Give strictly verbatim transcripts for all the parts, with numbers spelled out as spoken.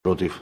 Против.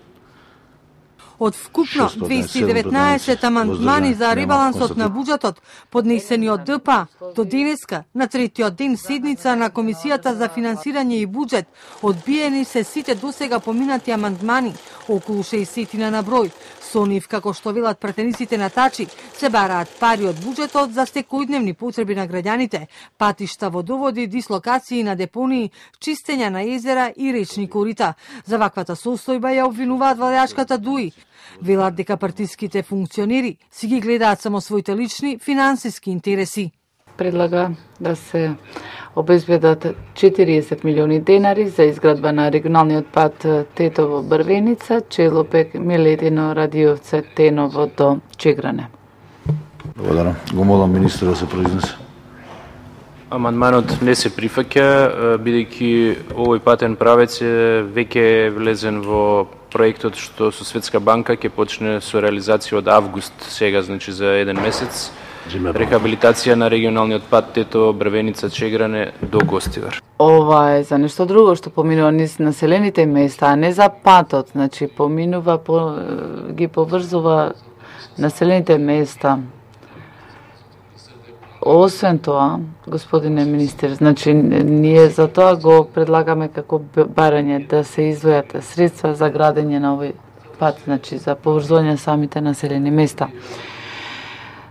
Од вкупно двеста и деветнаесет амандмани за ребалансот на буџетот, поднесени од Д П А, до денеска, на третиот ден седница на Комисијата за финансирање и буџет, одбиени се сите досега поминати амандмани, околу шеесет на број. Со нив, како што велат пратениците на Тачи, се бараат пари од буџетот за секојдневни потреби на граѓаните, патишта, водоводи, дислокации на депонии, чистење на езера и речни корита. За ваквата состојба ја обвинуваат владеачката ДУИ. Велат дека партиските функционери си ги гледаат само своите лични финансиски интереси. Предлага да се обезбедат четириесет милиони денари за изградба на регионалниот пат Тетово-Брвеница, Челопек, Милетино, Радиовце, Теново до Чегране. Благодарам. Го молам министерот да се произнесе. Амандманот не се прифаќа, бидејќи овој патен правец е веќе влезен во проектот што со Светска банка ќе почне со реализација од август сега, значи за еден месец. Рехабилитација на регионалниот пат Тето Брвеница Чегране до Гостивар. Ова е за нешто друго што поминува низ населените места, а не за патот, значи поминува по, ги поврзува населените места. Освен тоа, господине министер, значи ние за тоа го предлагаме како барање да се издвојат средства за градење на овој пат, значи за поврзување самите населени места.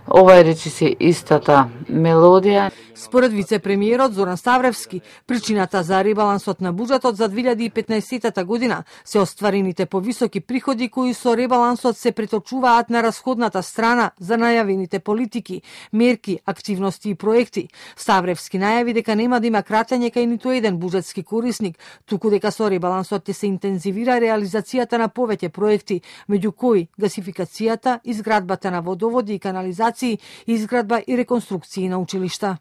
Ова е речиси истата мелодија. Според вице-премиерот Зоран Ставревски, причината за ребалансот на буџетот за две илјади и петнаесетта година се остварените повисоки приходи кои со ребалансот се преточуваат на расходната страна за најавените политики, мерки, активности и проекти. Ставревски најави дека нема да има кратење кај ниту еден буџетски корисник, туку дека со ребалансот ќе се интензивира реализацијата на повеќе проекти, меѓу кои гасификацијата, изградбата на водоводи и канализации, изградба и реконструкции на училишта.